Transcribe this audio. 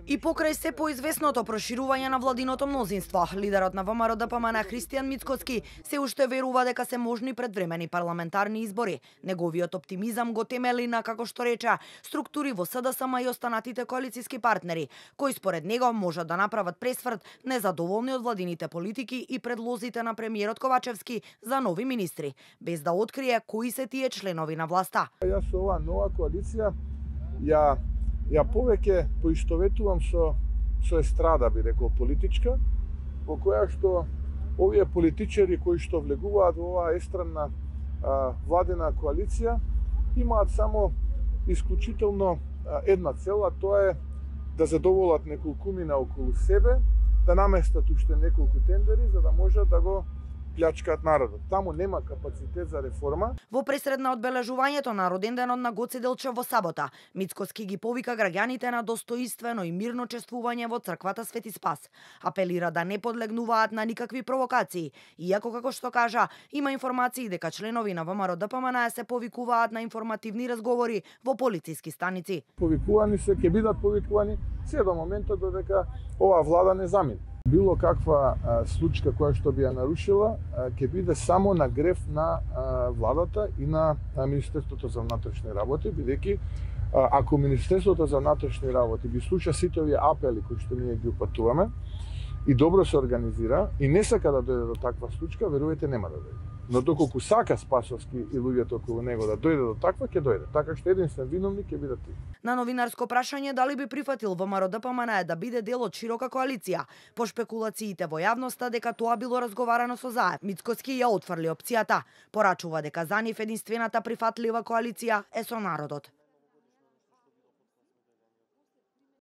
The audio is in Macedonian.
И покрај се поизвестното проширување на владиното мнозинство, лидерот на ВМРО ДПМН Христијан Мицкоски се уште верува дека се можни предвремени парламентарни избори. Неговиот оптимизам го темели на, како што рече, структури во СДСМ и останатите коалициски партнери, кои според него можат да направат пресврт незадоволни од владините политики и предлозите на премиерот Ковачевски за нови министри, без да открие кои се тие членови на власта. Јас со оваа нова коалиција ја повеќе поистоветувам со естрада, би рекол, политичка, во која што овие политичари кои што влегуваат во оваа естрадна владина коалиција имаат само исклучително една цел, а тоа е да задоволат неколкумина околу себе, да наместат уште неколку тендери за да можат да го плячкаат народот. Таму нема капацитет за реформа. Во пресред на одбележувањето на роденденот на Гоце Делчев во сабота, Мицкоски ги повика граѓаните на достоинствено и мирно чествување во црквата Свети Спас. Апелира да не подлегнуваат на никакви провокации, иако, како што кажа, има информации дека членови на ВМРО ДПМН се повикуваат на информативни разговори во полициски станици. Повикувани се, ќе бидат повикувани се до моментот додека оваа влада не замине. Било каква случка која што би ја нарушила, ќе биде само на греф на владата и на Министерството за внатрешни работи, бидејќи ако Министерството за внатрешни работи ги слуша сите овие апели кои што ние ги упатуваме и добро се организира и не сака да дојде до таква случка, верувајте, нема да дојде. Но доколку сака Спасовски и луѓето околу него да дојде до таква, ќе дојде. Така што единствен виновник ќе биде ти. На новинарско прашање дали би прифатил ВМРО ДПМН да биде дел од широка коалиција, по шпекулациите во јавноста дека тоа било разговарано со ЗАЕ, Мицкоски ја отфрли опцијата. Порачува дека за нив единствената прифатлива коалиција е со народот.